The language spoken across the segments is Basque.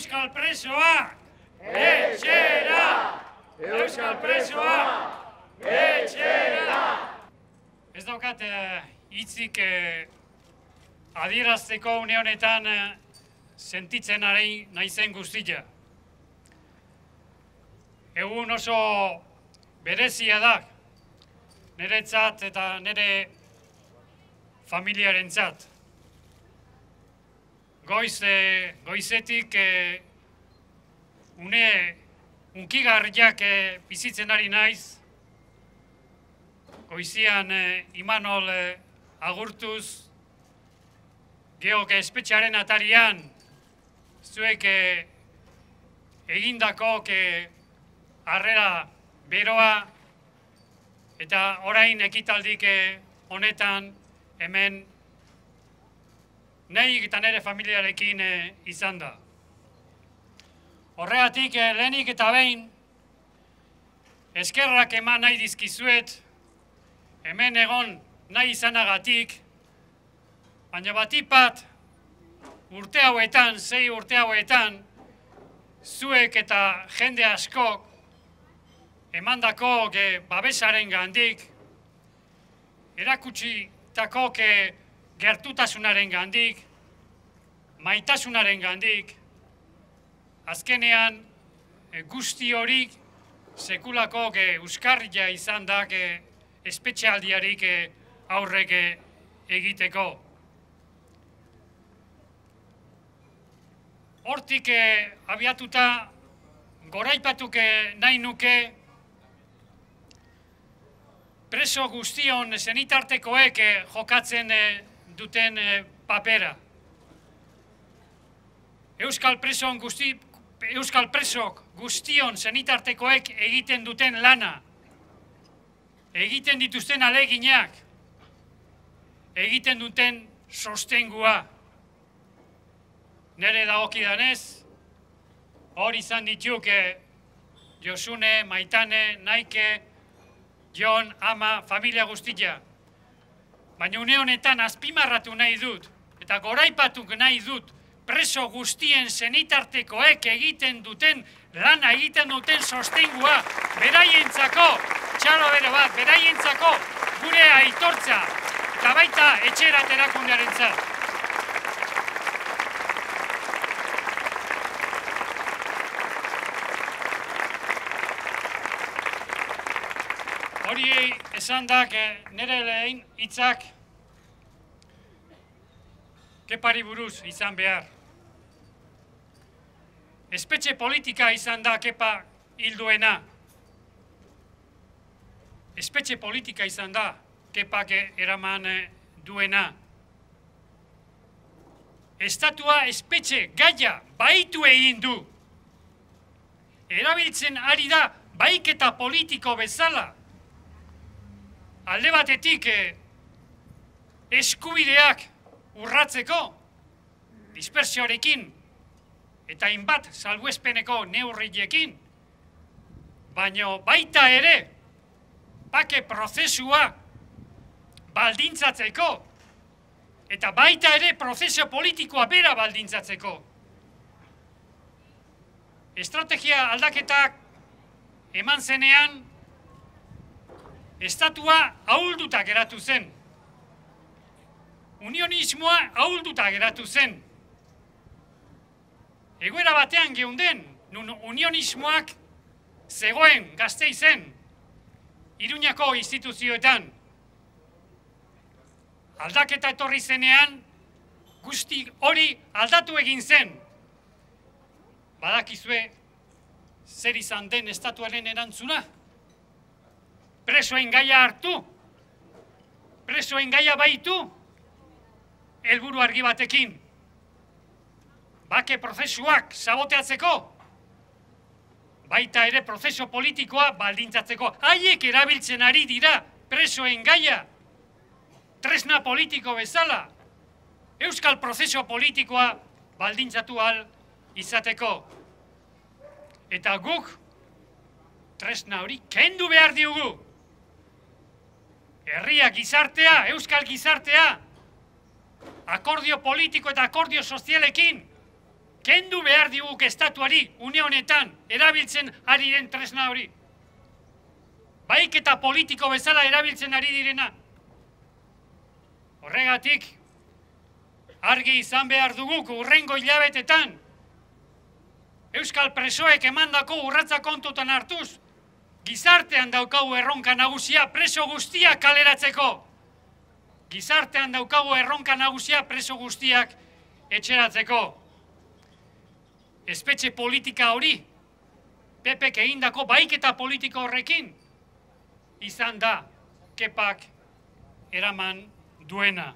Euskal presoak, etxera! Euskal presoak, etxera! Ez daukat hitzik adierazteko une honetan sentitzen ari naizen guztia. Egun oso berezia da, niretzat eta nire familiarentzat. Goizetik une unkigarriak bizitzen ari naiz, goizian Imanol agurtuz, geok espetxearen atarian, zuek egindako harrera beroa, eta orain ekitaldik honetan hemen nahi eta nire familiarekin izan da. Horregatik lehenik eta behin eskerrak eman nahi dizkizuet, hemen egon nahi izanagatik, baina batipat urte hauetan, 6 urte hauetan, zuek eta jende askok emandako babesaren gandik, erakutsitako gertutasunaren gandik, maitasunaren gandik, azkenean guzti horik sekulako euskarria izan da espetxealdiarik aurrek egiteko. Hortik abiatuta goraipatuk nahi nuke preso guztion senitartekoek jokatzen duten papera. Euskal presok guztion senitartekoek egiten duten lana, egiten dituzten aleginak, egiten duten sostengua. Nere dagokidanez, hor izan dituk Josune, Maitane, Naike, Jon, Ama, familia guztia. Baina une honetan azpimarratu nahi dut, eta goraipatuk nahi dut, preso guztien senitartekoek egiten duten lana, egiten duten sostengua, beraientzako, txalo bero bat, beraientzako gure aitortza, eta baita etxerat erakundearentzat. Hori esan da, nire lehen hitzak kepari buruz izan behar. Espetxe politika izan da kepa hilduena. Espetxe politika izan da kepak eraman duena. Estatua espetxe gaia baitu egin du. Erabiltzen ari da baiketa politiko bezala. Alde batetik eskubideak urratzeko, dispersioarekin, eta hainbat salbuespeneko neurriekin, baina baita ere, bake prozesua baldintzatzeko, eta baita ere prozesu politikoa bera baldintzatzeko. Estrategia aldaketak eman zenean, estatua ahulduta geratu zen. Unionismoa ahulduta geratu zen. Egoera batean geunden, nun unionismoak zegoen Gasteizen, Iruñako instituzioetan. Aldaketa etorri zenean, guzti hori aldatu egin zen. Badakizue, zer izan den estatuaren erantzuna? Presoen gaia hartu, presoen gaia baitu, helburu argi batekin. Bake prozesuak saboteatzeko, baita ere prozesu politikoa baldintzatzeko. Haiek erabiltzen ari dira presoen gaia, tresna politiko bezala, euskal prozesu politikoa baldintzatu ahal izateko. Eta guk tresna hori kendu behar diugu. Herria gizartea, euskal gizartea, akordio politiko eta akordio sozialekin kendu behar diguk estatuari, une honetan, erabiltzen ari den tresna hori. Baiketa politiko bezala erabiltzen ari direna. Horregatik, argi izan behar duguk hurrengo hilabetetan, Euskal presoek emandako urratza kontutan hartuz, gizartean daukagu erronka nagusia preso guztiak kaleratzeko. Gizartean daukagu erronka nagusia preso guztiak etxeratzeko. Espetxe politika hori, PPk egindako baiketa politika horrekin, izan da Kepak eraman duena.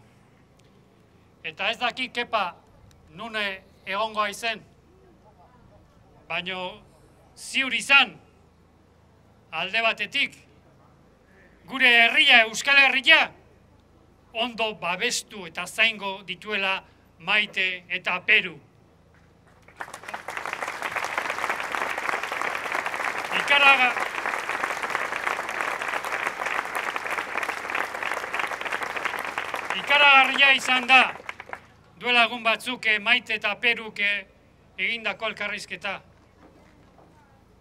Eta ez daki Kepa nune egongoa izen, baino ziur izan, alde batetik, gure herria, Euskal Herria, ondo babestu eta zaingo dituela Maite eta Peru. Ikaragarria izan da, duela egun batzuk Maite eta Peruk egindako elkarrizketa.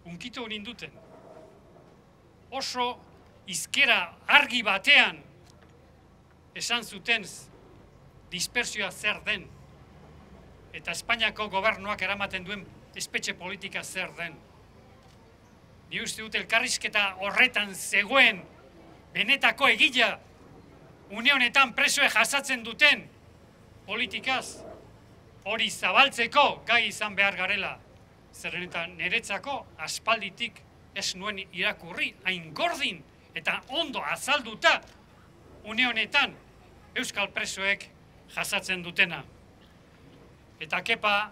Unkitu ninduten. Oso izkera argi batean esan zuten dispersioa zer den eta Espainiako gobernuak eramaten duen espetxe politika zer den. Ni uste dut elkarrizketa horretan zegoen benetako egila une honetan presoe jasatzen duten politikaz hori zabaltzeko gai izan behar garela. Zeren eta niretzako aspalditik ez nuen irakurri hain gordin eta ondo azalduta une honetan Euskal presoek jasatzen dutena. Eta Kepa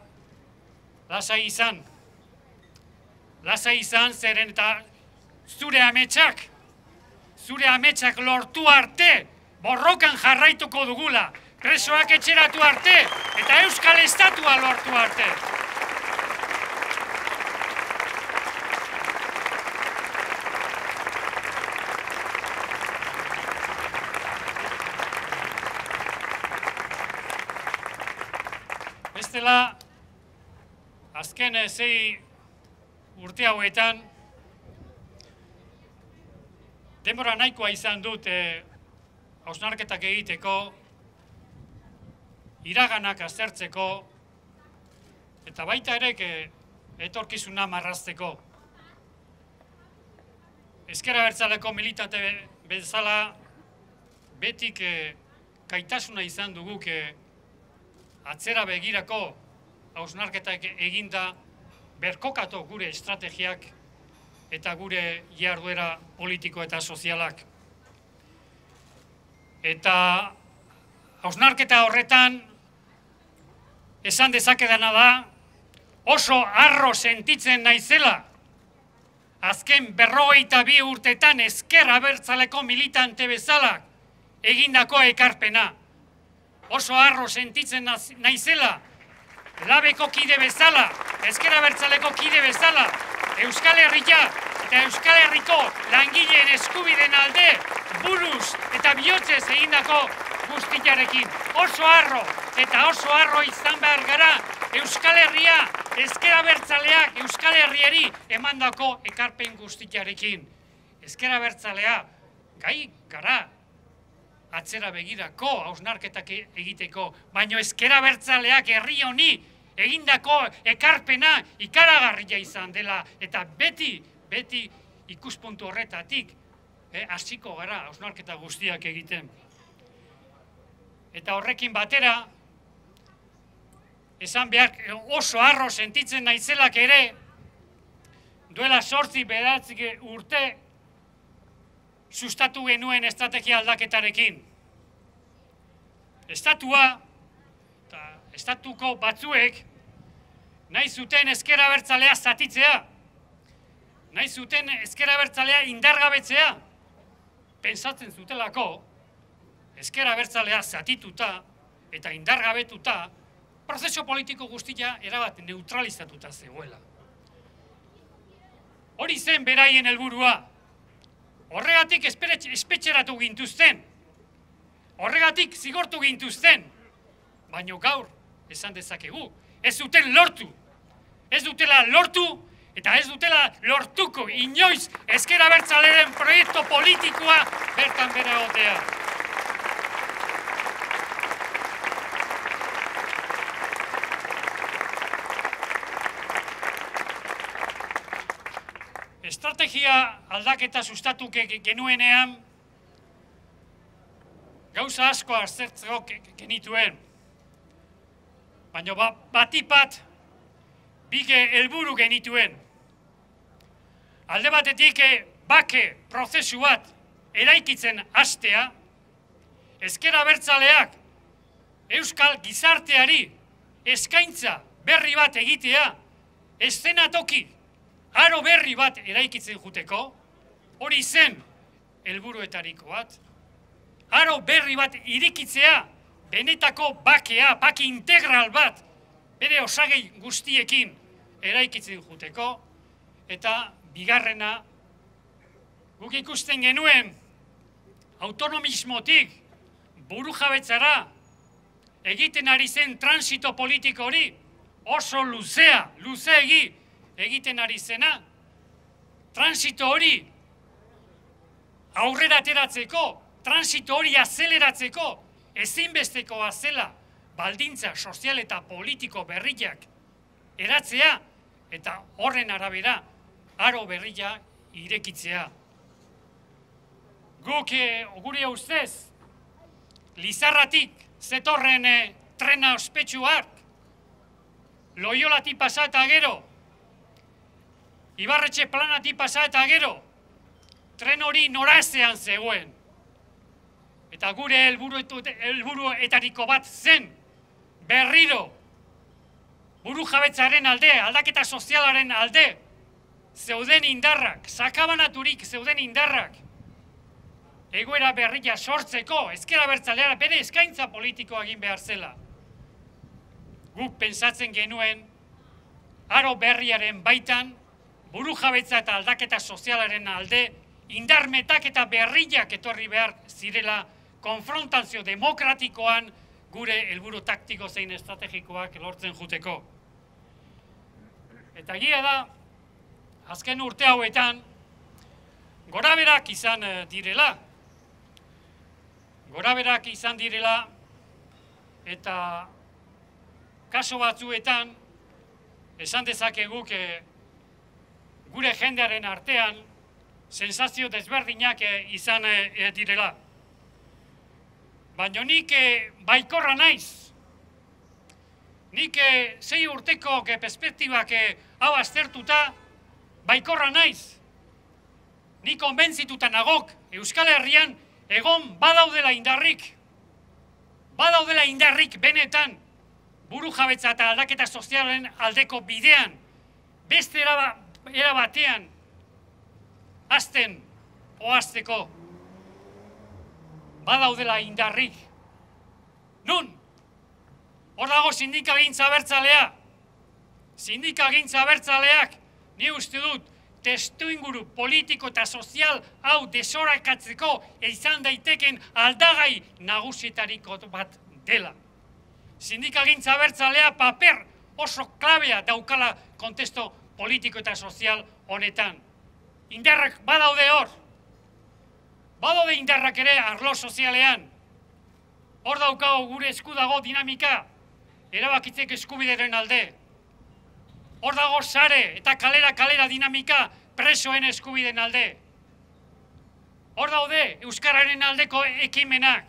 lasai izan zeren eta zure ametsak lortu arte borrokan jarraituko dugula, presoak etxeratu arte eta Euskal Estatua lortu arte. Bestela, azken 6 urte hauetan, denbora nahikoa izan dut hausnarketak egiteko, iraganak aztertzeko, eta baita ere etorkizuna marrazteko. Ezker Abertzaleko militante bezala, betik gaitasuna izan duguk atzera begirako hausnarketak eginda berkokatu gure estrategiak eta gure jarduera politiko eta sozialak. Eta hausnarketa horretan esan dezakedana da oso harro sentitzen naizela azken 52 urtetan Ezker Abertzaleko militante bezala egindako ekarpena. Oso harro sentitzen naizela Labeko kide bezala, Ezker Abertzaleko kide bezala, Euskal Herria eta Euskal Herriko langileen eskubideen alde buruz eta bihotzez egindako guztiarekin. Oso harro eta oso harro izan behar gara Euskal Herria, Ezker Abertzaleak Euskal Herriari emandako ekarpen guztiarekin. Ezker Abertzalea gai gara atzera begirako hausnarketak egiteko, baino Ezker Abertzaleak herri honi egindako ekarpena ikaragarria izan dela eta beti ikuspuntu horretatik hasiko gara hausnarketa guztiak egiten. Eta horrekin batera, esan behar oso harro sentitzen naizelak ere, duela 8-9 urte sustatu genuen estrategia aldaketarekin. Estatua eta estatuko batzuek nahi zuten Ezker Abertzalea zatitzea, nahi zuten Ezker Abertzalea indargabetzea, pentsatzen zutelako Ezker Abertzalea zatituta eta indargabetuta prozesu politiko guztia erabat neutralizatuta zegoela. Hori zen beraien helburua. Horregatik espetxeratu gintuzten, horregatik zigortu gintuzten, baino gaur esan dezakegu, ez duten lortu. Ez dutela lortu eta ez dutela lortuko inoiz ezker abertzalearen proiektu politikoa bertan bera egotea. Estrategia aldaketa sustatu genuenean gauza asko aztertzeko genituen. Baina batipat bige helburu genituen. Alde batetik bake prozesu bat eraikitzen hastea, ezker abertzaleak euskal gizarteari eskaintza berri bat egitea, eszenatoki aro berri bat eraikitzen juteko, hori zen helburuetariko bat. Aro berri bat irikitzea, benetako bakea, bake integral bat, bere osagei guztiekin eraikitzen juteko, eta bigarrena, guk ikusten genuen autonomismotik burujabetzara egiten ari zen transito politiko hori oso luzeegi egiten ari zena, transito hori aurrera ateratzeko, transito hori azeleratzeko, ezinbestekoa zela baldintza sozial eta politiko berriak eratzea eta horren arabera aro berria irekitzea. Guk gure ustez, Lizarratik zetorren trena ospetsuak, Loiolatik pasa eta gero, Ibarretxe planatik pasa eta gero, tren hori norazean zegoen. Eta gure helburuetariko bat zen, berriro, burujabetzaren alde, aldaketa sozialaren alde, zeuden indarrak, sakabanaturik zeuden indarrak, egoera berria sortzeko, ezker abertzalea bere eskaintza politikoa egin behar zela. Guk pentsatzen genuen, aro berriaren baitan, burujabetza eta aldaketa sozialaren alde, indarmetak eta berriak etorri behar zirela konfrontazio demokratikoan gure helburu taktiko zein estrategikoak lortzen juteko. Eta egia da, azken urte hauetan, goraberak izan direla. Goraberak izan direla eta kaso batzuetan esan dezakeguk gure jendearen artean sensazio desberdinak izan direla. Baina nik baikorra naiz. Nik 6 urteko perspektibak hau aztertuta baikorra naiz. Nik konbentzituta nagok Euskal Herrian egon badaudela indarrik. Badaudela indarrik benetan burujabetza eta aldaketa sozialen aldeko bidean. Beste era batean azten oazteko. Badaudela indarrik. Nun? Hor dago sindikagintza abertzalea. Sindikagintza abertzaleak, ni uste dut, testuinguru politiko eta sozial hau desorakatzeko izan daiteken aldagai nagusietariko bat dela. Sindikagintza abertzalea paper oso klabea daukala kontesto politiko eta sozial honetan. Indarrak badaude hor. Badaude indarrak ere arlo sozialean. Hor daukago gure esku dago dinamika, erabakitzek eskubideren alde. Hor dago sare eta kalera dinamika presoen eskubideen alde. Hor daude euskararen aldeko ekimenak.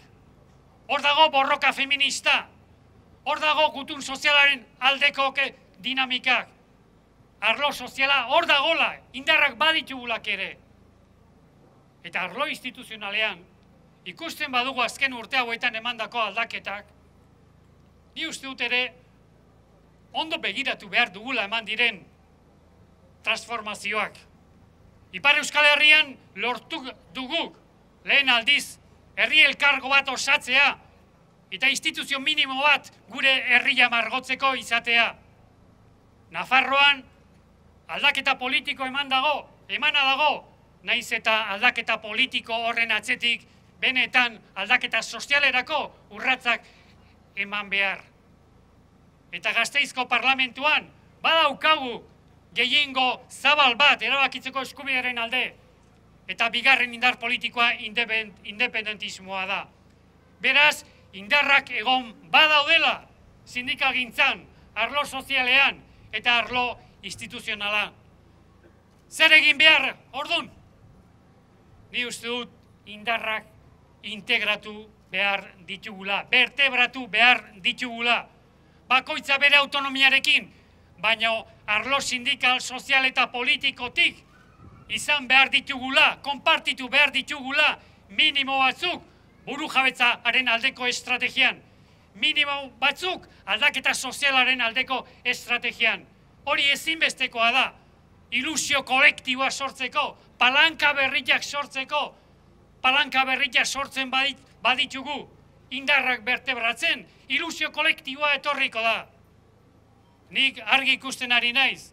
Hor dago borroka feminista. Hor dago gutun sozialaren aldeko dinamikak. Arlo soziala hor dagola, indarrak baditugulak ere. Eta arlo instituzionalean, ikusten badugu azken urte hauetan emandako aldaketak, ni uste dut ere, ondo begiratu behar dugula eman diren transformazioak. Ipar Euskal Herrian lortu dugu lehen aldiz herri elkargo bat osatzea eta instituzio minimo bat gure herria margotzeko izatea. Nafarroan aldaketa politiko emana dago, naiz eta aldaketa politiko horren atzetik benetan aldaketa sozialerako urratsak eman behar. eta Gasteizko parlamentuan badaukagu gehiengo zabal bat erabakitzeko eskubidearen alde, eta bigarren indar politikoa independentismoa da. Beraz, indarrak egon badaudela sindikalgintzan, arlo sozialean eta arlo instituzionala. Zer egin behar, ordun? Ni uste dut indarrak integratu behar ditugula, bertebratu behar ditugula, bakoitza bere autonomiarekin, baina arlo sindikal, sozial eta politikotik izan behar ditugula, konpartitu behar ditugula, minimo batzuk burujabetzaaren aldeko estrategian, minimo batzuk aldaketa sozialaren aldeko estrategian. Hori ezinbestekoa da, ilusio kolektiboa sortzeko, palanka berriak sortzeko, palanka berriak sortzen baditugu, indarrak bertebratzen, ilusio kolektiboa etorriko da. Nik argi ikusten ari naiz,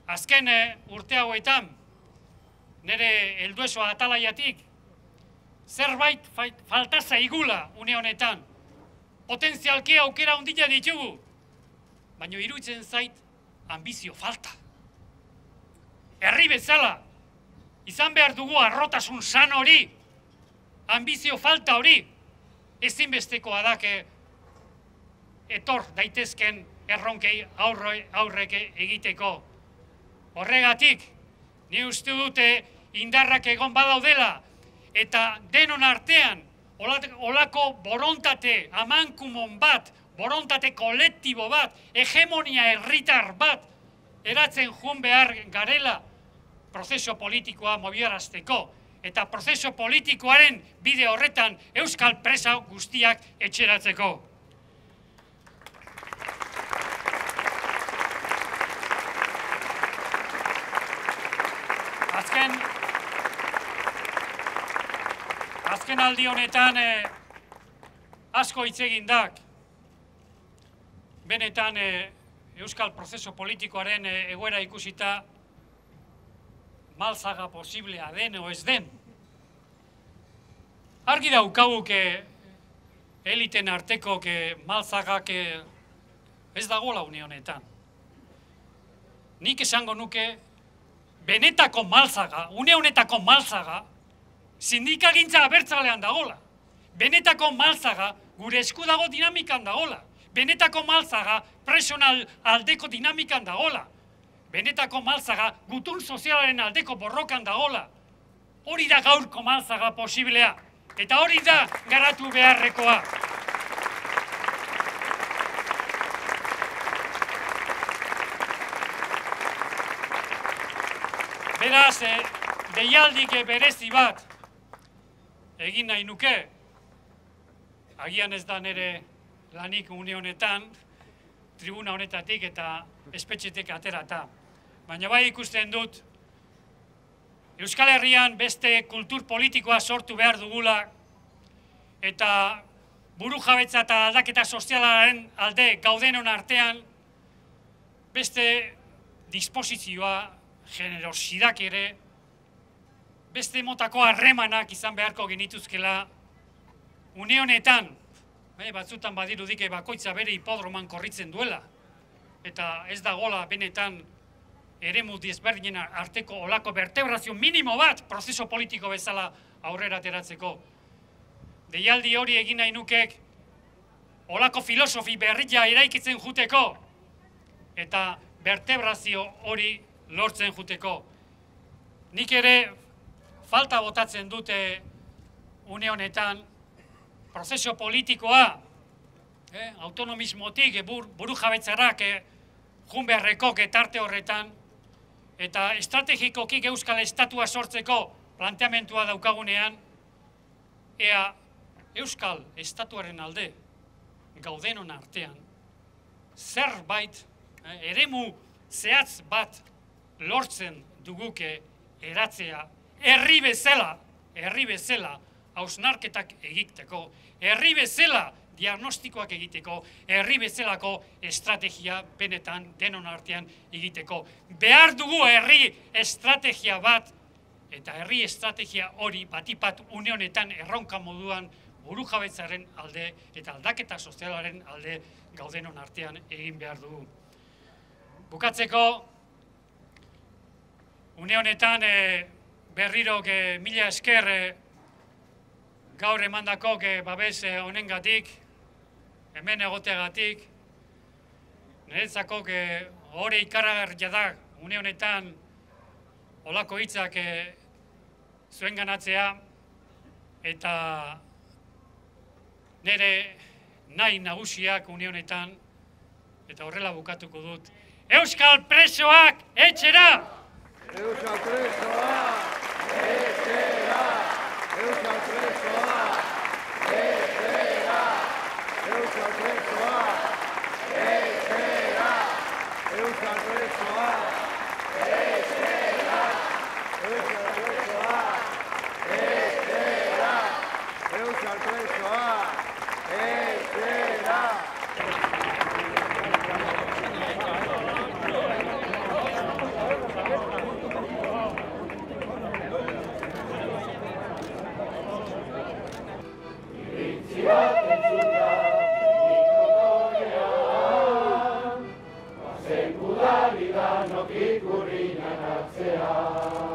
azken urte hauetan, nire helduesoa atalaiatik, zerbait falta zaigula une honetan, potentzialki aukera handia ditugu, baina iruditzen zait ambizio falta. Herri bezala, izan behar dugu arrotasun san hori, ambizio falta hori, ezinbestekoa da etor daitezken erronkei aurreke egiteko. Horregatik, ni uste dute indarrak egon badaudela, eta denon artean, olako borontate amankumon bat, borontate kolektibo bat, hegemonia herritar bat, eratzen jun behar garela prozeso politikoa mobiarazteko, eta prozeso politikoaren bide horretan euskal presa guztiak etxeratzeko. Azken aldi honetan asko hitz egindak, benetan euskal prozeso politikoaren egoera ikusita maltzaga posiblea den o ez den. Argi daukaguk eliten arteko maltzagak ez dagoela une honetan. Nik esango nuke benetako maltzaga, une honetako maltzaga, sindikagintza abertzalean dagoela. Benetako maltzaga gure esku dago dinamikan dagoela. Benetako maltzaga presional aldeko dinamikan dagoela. Benetako maltzaga gutun sozialaren aldeko borrokan dagoela. Hori da gaurko maltzaga posiblea. Eta hori da garatu beharrekoa. Beraz, deialdik berezi bat egin nahi nuke, agian ez da nire lanik une honetan, tribuna honetatik eta espetxetik aterata. Baina bai ikusten dut, Euskal Herrian beste kultur politikoa sortu behar dugula, eta burujabetza eta aldaketa sozialaren alde gaudenon artean, beste disposizioa, generosidak ere, beste motako harremanak izan beharko genituzkela une honetan, batzutan badirudike bakoitza bere hipodroman korritzen duela, eta ez dagoela benetan eremu desberdinen arteko olako vertebrazio minimo bat prozeso politiko bezala aurrera ateratzeko. Deialdi hori egin nahi nukek olako filosofi berria eraikitzen juteko eta vertebrazio hori lortzen juteko. Nik ere falta botatzen dute une honetan prozeso politikoa, autonomismotik, burujabetzarak jun beharreko tarte horretan, eta estrategikokik euskal estatua sortzeko planteamentua daukagunean, ea euskal estatuaren alde gaudenon artean, zerbait, eremu zehatz bat lortzen duguke eratzea, herri bezala, hausnarketak egiteko, herri bezala diagnostikoak egiteko, herri bezalako estrategia benetan denon artean egiteko. Behar dugu herri estrategia bat, eta herri estrategia hori batipat une honetan erronka moduan burujabetzaren alde eta aldaketa sozialaren alde gaudenon artean egin behar dugu. Bukatzeko, une honetan berriro mila esker gaur emandako babes honengatik, hemen egoteagatik, niretzako ohore ikaragarria da une honetan olako hitzak zuen ganatzea, eta nire nahi nagusiak une honetan, eta horrela bukatuko dut, Euskal presoak etxera! Euskal presoak etxera! Euskal presoak etxera! Euskal presoak etxera! Euskal presoak etxera! Euskal presoak etxera! Euskal presoak etxera! Sekudari danok ikurriñan atzean.